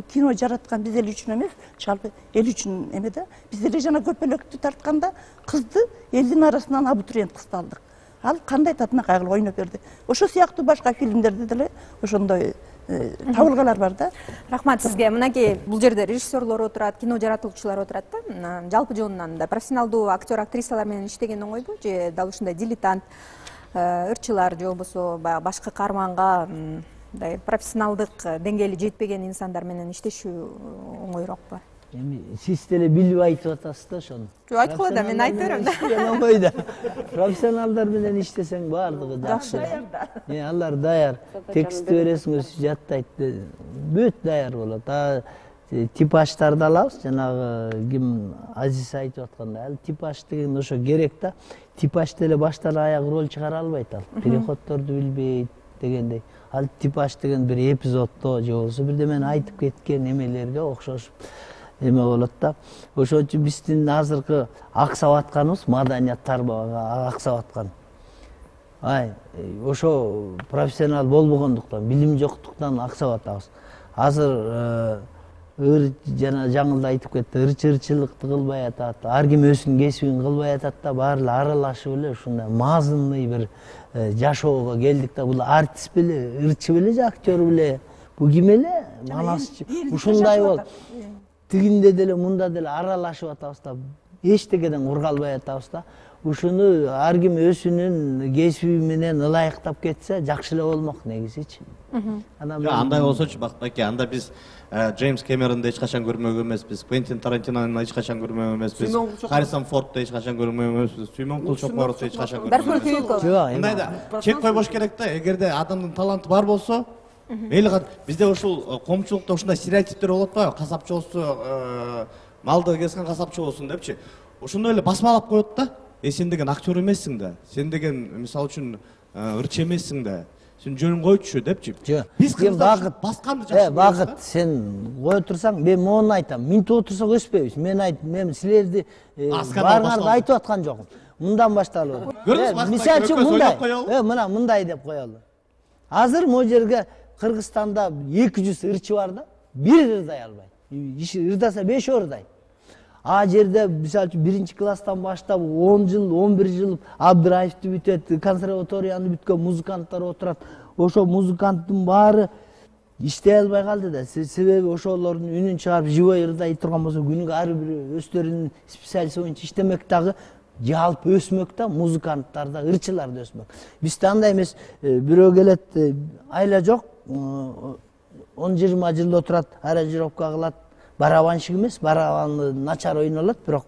кино жараткан биз эл үчүн эмес, жалпы эл үчүн эме да. Биз эле жана көпөлөктү тартканда кызды элдин арасынан абитуриент кызды алдык. Ал кандай татынакай кылып ойноп берди. Ошо сыяктуу башка фильмдерде деле ошондой табылгалар бар да. Рахмат сизге. Мынакей бул жерде режиссерлор отурат, кино жаратуучулар отурат да. Жалпы жонунан да профессионалдуу актер, актрисалар менен иштеген оңойбу же дал ушундай дилетант ырчылар же болбосо башкы каарманга мындай профессионалдык деңгээли жетпеген инсандар менен иштешүү оңойрокпу? эми сиз деле билип айтып атасыз да ошону. Жок, айткыла да, мен айта берем да. Профессионалдар менен иштесең баардыгы жакшы. Э, алар даяр. Текстти бересиңер, жаттайт. Бүт даяр болот. А типаждарды алабыз, жанагы ким Азиз айтып аткандай, ал типаж деген ошо керек да. Типаж деле баштан аяк роль чыгара албайт ал. Переходдорду билбейт дегендей. Ал типаж деген бир эпизоддо же болбосо бирдемени айтып кеткен эмелерге окшош эме болот да. Ошон үчүн биздин азыркы аксап атканыбыз маданият тармагы аксап аткан. Ай, ошо профессионал болбогондуктан, билим жоктуктан аксап атабыз. Азыр ыр жана жаңылда айтып кетти, ырчы-ырчылыкты кылбай атат, ар ким өзүнүн кесибин кылбай атат да, баары аралашып эле ушундай мазмунный бир жашоого келдик да. Бул артист беле, ырчы беле же актер беле, бул ким эле? Манасчы. Ушундай болуп, тигинде деле мында деле аралашып атабыз да, эчтекеден кургалбай атабыз да. Ушуну ар ким өзүнүн кесиби менен ылайыктап кетсе жакшы эле болмок негизичи. Андай болсочу Бактыбайке, анда биз Джеймс Кэмеронду эч качан көрмөгөн эмеспиз, Квентин Тарантинону эч качан көрмөгөн эмеспиз, Харрисон Фордду эч качан көрмөгөн эмеспиз, Сүймөн Кулчокморовду эч качан көрмөгөн эмеспиз. Мындай да, чек койбош керек да, эгерде адамдын таланты бар болсо, мейли бизде ушул коомчулукта ушундай стереотиптер болот да, касапчы болсо, малды кескен касапчы болсун депчи. Ошондой эле басмалап коет да. Э сен деген актер эмессиң да, сен деген мисалы үчүн ырчы эмессиң да, сен жөнүн койчу депчи. Биз кыздар басканды жакшы. Э, Багыт, сен кое турсаң, мен мону айтам. Минтип отурсак өспөйбүз. Мен айт, мен силерди баарыңарды айтып аткан жокмун. Мындан башталып. Мисалы үчүн мындай, э, мына мындай деп коелу. Азыр могу жерге Кыргызстанда эки жүз ырчы бар да, бир ырдай албайт. Ырдаса беш ырдайт. А жерде мисалы үчүн биринчи класстан баштап он жыл, он бир жыл Абдыраевди бүтөт, консерваторияны бүткөн музыканттар отурат. Ошо музыканттын баары иштей албай калды да. Себеби ошолордун үнүн чыгарып живой ырдай турган болсо, күнүгө ар бир өздөрүнүн специалист боюнча иштемек дагы жалпы өсмөк да, музыканттар да, ырчылар да өсмөк. Бизде андай эмес, бирөө келет, айла жок, он жыйырма жыл отурат, аранжировка кылат. Барабанщик эмес, барабанды начар ойнолот, бирок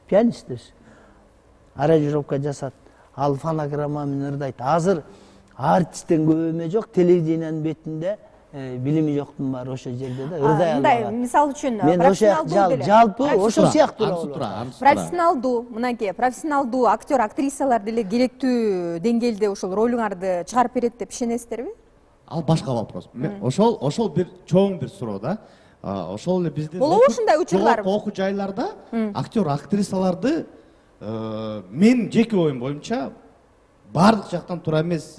пианист эмес. Аранжировка жасат, ал фонограмма менен ырдайт. Азыр артисттен көп эме жок, телевидениянын бетинде билими жоктун баары ошо жерде да, ырдай албайт. Мындай, мисалы үчүн профессионалдуу деле. Жалпы ошо сыяктуу. Профессионалдуу, мынакей, профессионалдуу актер, актрисалар деле керектүү деңгээлде ошол ролуңарды чыгарып берет деп ишенесиздерби? Ал башка вопрос. Ошол ошол бир чоң бир суроо да. Ошол эле биздин болобу ушундай учурлар? Окуу жайларда актер, актрисаларды мен жеке оюм боюнча баардык жактан туура эмес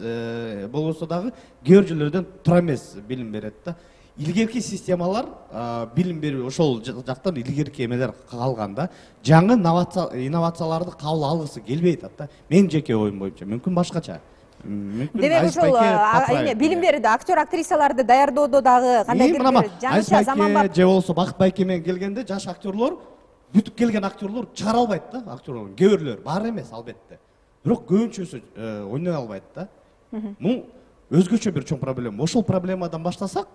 болбосо дагы кээ бир жерлерден туура эмес билим берет да. Илгерки системалар билим берүү ошол жактан илгерки эмелер калган да. Жаңы инновацияларды кабыл алгысы келбей атат да. Мен жеке оюм боюнча мүмкүн башкача. Демек ошол билим берүүдө актер, актрисаларды даярдоодо дагы кандайдыр бир жаңыча заман бар. Же болсо Бактыбайке менен келгенде жаш актерлор, бүтүп келген актерлор чыгара албайт да, актерлор. Кээ бирлер бар эмес албетте. Бирок көбүнчөсү ойной албайт да. Бул өзгөчө бир чоң проблема. Ошол проблемадан баштасак,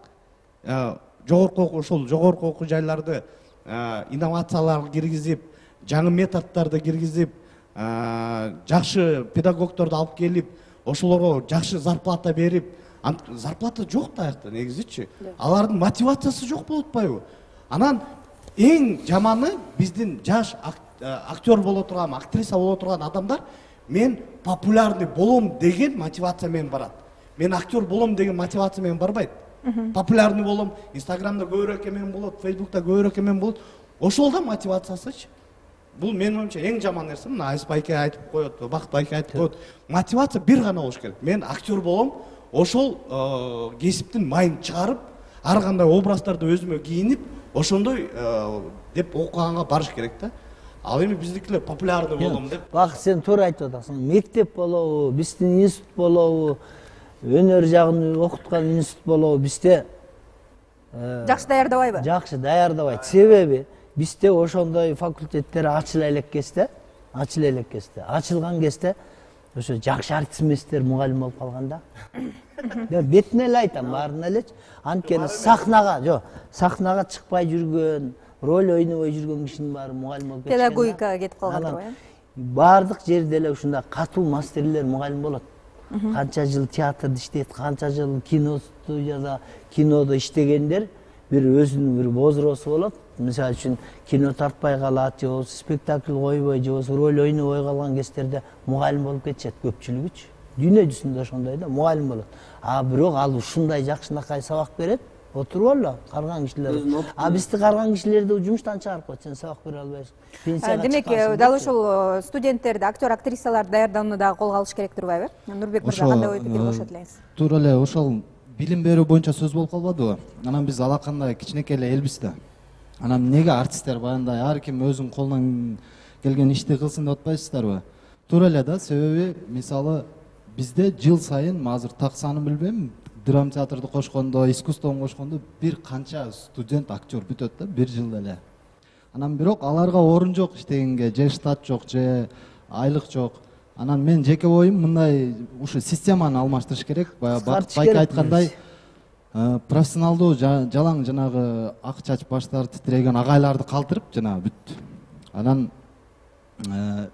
жогорку окуу, ошол жогорку окуу жайларды инновациялар киргизип, жаңы методдорду киргизип, жакшы педагогдорду алып келип, ошолорго жакшы зарплата берип, зарплата жок да аякта негизичи. Алардын мотивациясы жок болуп атпайбы? Анан эң жаманы биздин жаш актер боло турган, актриса боло турган адамдар мен популярный болом деген мотивация менен барат. Мен актер болом деген мотивация менен барбайт. Популярный болом, Инстаграмда көбүрөөк эмен болот, Фейсбукта көбүрөөк эмен болот. Ошол да мотивациясычы. Бул менин оюмча эң жаман нерсе. Мына Айсбайке айтып коет, Бактыбайке айтып коет. Мотивация бир гана болуш керек. Мен актер болом, ошол кесиптин майын чыгарып, ар кандай образдарды өзүмө кийинип, ошондой деп окуганга барыш керек да. Ал эми биздикилер популярный болом деп. Бак, сен туура айтып атасың. Мектеп болобу, биздин институт болобу, өнөр жагын окуткан институт болобу, бизде жакшы даярдабайбы? Жакшы даярдабайт. Себеби бизде ошондой факультеттер ачыла элек кезде, ачыла элек кезде, ачылган кезде ошо жакшы артист эместер мугалим болуп калганда. Бетине эле айтам, баарына элечи. Анткени сахнага, жок, сахнага чыкпай жүргөн, роль ойнобой жүргөн кишинин баары мугалим болуп кетишкен. Педагогикага кетип калгандыр го, э? Баардык жерде эле ушундай катуу мастерлер мугалим болот. Канча жыл театрда иштейт, канча жыл кино студияда, кинодо иштегендер бир өзүнүн бир возросу болот. Мисалы үчүн кино тартпай калат, же болбосо спектакль койбой, же болбосо роль ойнобой калган кездерде мугалим болуп кетишет көпчүлүгүчү. Дүйнө жүзүндө ошондой да мугалим болот. А бирок ал ушундай жакшынакай сабак берет, отуруп алла карган кишилер. А бизди карган кишилерди жумуштан чыгарып коет, сен сабак бере албайсың. Пенсияга Демек, дал ошол студенттерди, актер, актрисаларды даярдоону дагы колго алыш керек турбайбы? Нурбек мырза, кандай ой пикир кошот элеңиз? Туура эле ошол билим берүү боюнча сөз болуп калбадыбы? Анан биз алакандай кичинекей эле элбиз да. Анан эмнеге артисттер баягындай ар ким өзүнүн колунан келген ишти кылсын деп атпайсыздарбы? Туура эле да, себеби мисалы бизде жыл сайын азыр так санын билбейм, драма театрды кошкондо, искусствону кошкондо бир канча студент, актер бүтөт да бир жылда эле. Анан бирок аларга орун жок иштегенге, же штат жок, же айлык жок. Анан мен жеке оюм мындай ушу системаны алмаштырыш керек. Баягы Байке айткандай, профессионалдуу жалаң жанагы ак чач баштары титиреген агайларды калтырып жанагы бүт. Анан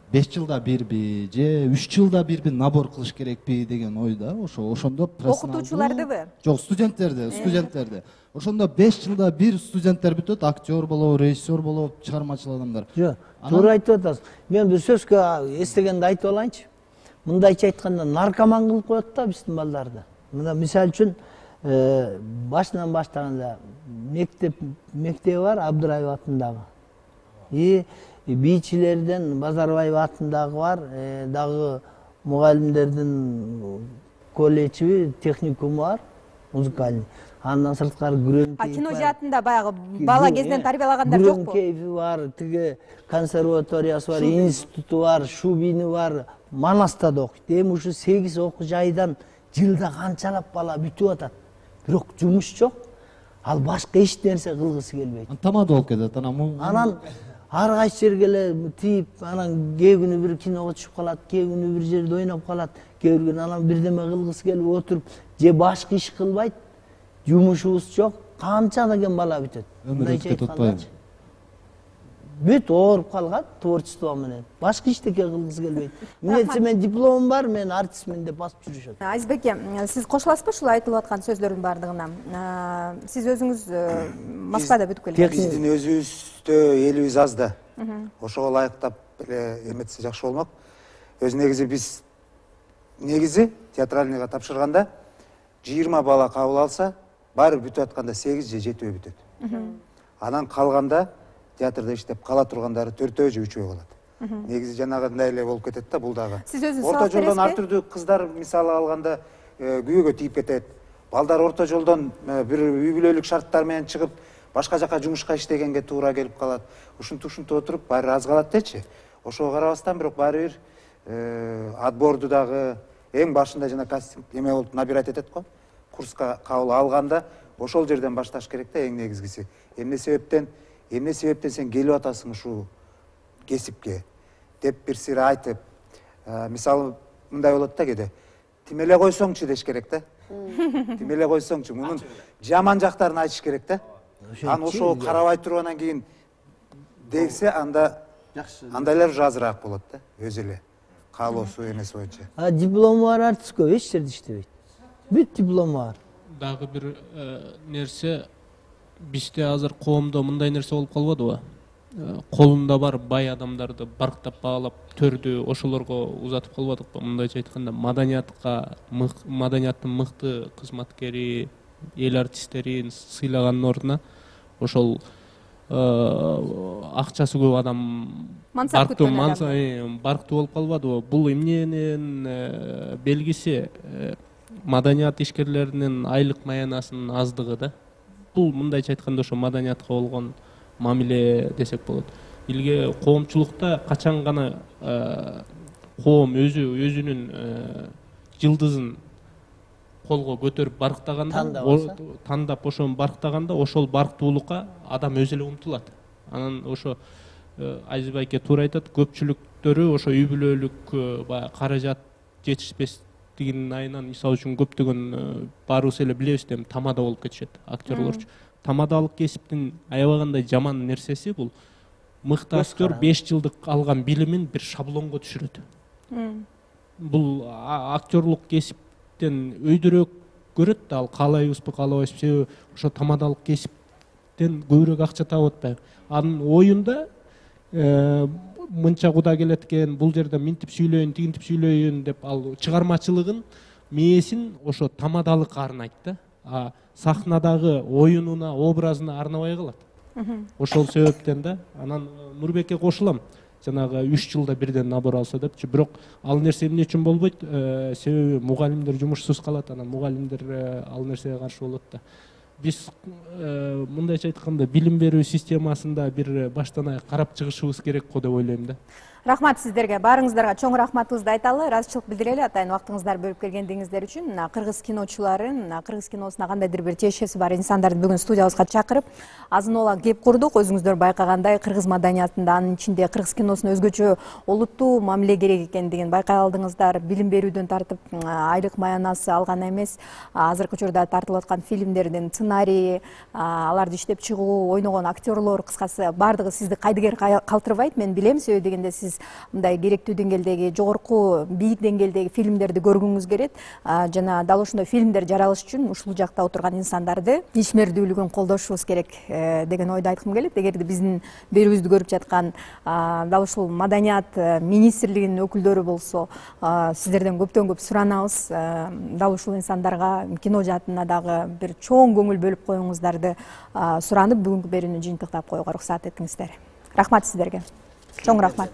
беш жылда бирби же үч жылда бирби набор кылыш керекпи деген ойда. Ошо ошондо профессионалдуу окутуучулардыбы? Жок, студенттерди, студенттерди. Ошондо беш жылда бир студенттер бүтөт, актер болобу, режиссер болобу, чыгармачыл адамдар. Жок, туура айтып атасыз. Мен бир сөзгө эстегенди айтып алайынчы. Мындайча айтканда наркоман кылып коет да биздин балдарды. Мына мисалы үчүн башынан баштаганда мектеп мектеби бар Абдыраев атындагы. И бийчилерден Базарбаев атындагы бар, дагы мугалимдердин колледжи, техникуму бар, музыкальный. Андан сырткары Күрөн. А кино жаатында баягы бала кезинен тарбиялагандар жокпу? Күрөн кейфи бар, тиги консерваториясы бар, институту бар, Шубини бар, Манаста да окуйт. Эми ушу сегиз окуу жайдан жылда канчалап бала бүтүп атат. Бирок жумуш жок. Ал башка эч нерсе кылгысы келбейт. Тамада болуп кетет. Анан ар кайсы жерге эле тийип, анан кээ күнү бир киного түшүп калат, кээ күнү бир жерде ойноп калат, кээ күнү анан бирдеме кылгысы келип отуруп, же башка иш кылбайт, жумушубуз жок, канча деген бала бүтөт. Өмүр өтүп кетип атпайбы? Бүт ооруп калган творчество менен. Башка иштеке кылгысы келбейт. Эмнесе мен дипломум бар, мен артистмин деп басып жүрүшөт. Азизбеке, сиз кошуласызбы ушул айтылып аткан сөздөрдүн баардыгына? Сиз өзүңүз Москвада бүтүп келдиңиз. Биздин өзүбүздө элибиз аз да. Ошого ылайыктап эле эметсе жакшы болмок. Өзү негизи биз негизи театральныйга тапшырганда жыйырма бала кабыл алса, баары бүтүп атканда сегиз же жетөө бүтөт. Анан калганда театрда иштеп кала тургандары төртөө же үчөө калат. Негизи жанагындай эле болуп кетет да бул дагы. Сиз өзүңүз орто жолдон ар түрдүү кыздар мисалы алганда күйөөгө тийип кетет. Балдар орто жолдон бир үй бүлөлүк шарттар менен чыгып, башка жака жумушка иштегенге туура келип калат. Ушинтип ушинтип отуруп баары аз калат дечи. Ошого карабастан бирок баары бир отборду дагы эң башында жана кастинг эме болуп набирать этет го. Курска кабыл алганда ошол жерден башташ керек да эң негизгиси. Эмне себептен эмне себептен сен келип атасың ушул кесипке деп бир сире айтып, мисалы мындай болот да кээде. Тимеле койсоңчу деш керек да. Тимеле койсоңчу, мунун жаман жактарын айтыш керек да. Аны ошого карабай тургандан кийин дегсе, анда андайлар уже азыраак болот да, өзү эле каалоосу эмеси боюнча. А диплому бар артист көп эч жерде иштебейт. Бүт диплому бар. Дагы бир нерсе, бизде азыр коомдо мындай нерсе болуп калбадыбы? Колунда бар бай адамдарды барктап баалап төрдү ошолорго узатып калбадыкпы? Мындайча айтканда, маданиятка, маданияттын мыкты кызматкери, эл артисттерин сыйлагандын ордуна ошол акчасы көп адам барктуу барктуу болуп калбадыбы? Бул эмненин белгиси? Маданият ишкерлеринин айлык маянасынын аздыгы да. Бул мындайча айтканда ошо маданиятка болгон мамиле десек болот. Илге коомчулукта качан гана коом өзү өзүнүн жылдызын колго көтөрүп барктаганда, тандап ошону барктаганда, ошол барктуулукка адам өзү эле умтулат. Анан ошо Азиз байке туура айтат, көпчүлүктөрү ошо үй бүлөлүк баягы каражат жетишпестигинин айынан, мисалы үчүн көптөгөн баарыбыз эле билебиз, эми тамада болуп кетишет актерлорчу. тамадалык кесиптин аябагандай жаман нерсеси бул мыкты актер беш жылдык алган билимин бир шаблонго түшүрөт. Бул актерлук кесиптен өйдөрөөк көрөт да, ал каалайбызбы каалабайбызбы, себеби ошо тамадалык кесиптен көбүрөөк акча таап атпайбы. Анын оюнда мынча куда келет экен, бул жерде минтип сүйлөйүн, тигинтип сүйлөйүн деп ал чыгармачылыгын, мээсин ошо тамадалыкка арнайт да. А сахнадагы оюнуна, образына арнабай калат. Ошол себептен да анан Нурбекке кошулам. Жанагы үч жылда бирден набор алса депчи, бирок ал нерсе эмне үчүн болбойт? Себеби мугалимдер жумушсуз калат, анан мугалимдер ал нерсеге каршы болот да. Биз мындайча айтканда билим берүү системасында бир баштан аяк карап чыгышыбыз керек го деп ойлойм да. Рахмат сиздерге, баарыңыздарга чоң рахматыбызды айталы, ыраазычылык билдирели атайын убактыңыздарды бөлүп келгендигиңиздер үчүн. Кыргыз киночуларын, кыргыз киносуна кандайдыр бир тиешеси бар инсандарды бүгүн студиябызга чакырып, азын оолак кеп курдук. Өзүңүздөр байкагандай, кыргыз маданиятында, анын ичинде кыргыз киносуна өзгөчө олуттуу мамиле керек экендигин байкай алдыңыздар. Билим берүүдөн тартып, айлык маянасы алган эмес, азыркы учурда тартылып аткан фильмдердин сценарийи, аларды иштеп чыгуу, ойногон актерлор, кыскасы баардыгы сизди кайдыгер калтырбайт, мен билем, себеби дегенде сиз мындай керектүү деңгээлдеги, жогорку бийик деңгээлдеги фильмдерди көргүңүз келет. Жана дал ошондой фильмдер жаралыш үчүн ушул жакта отурган инсандарды ишмердүүлүгүн колдошубуз керек деген ойду айткым келет. Эгерде биздин берүүбүздү көрүп жаткан дал ушул маданият министрлигинин өкүлдөрү болсо, сиздерден көптөн көп суранабыз. Дал ушул инсандарга кино жаатына дагы бир чоң көңүл бөлүп коюңуздарды суранып, бүгүнкү берүүнү жыйынтыктап коюуга уруксат этиңиздер. Рахмат сиздерге. Чоң рахмат.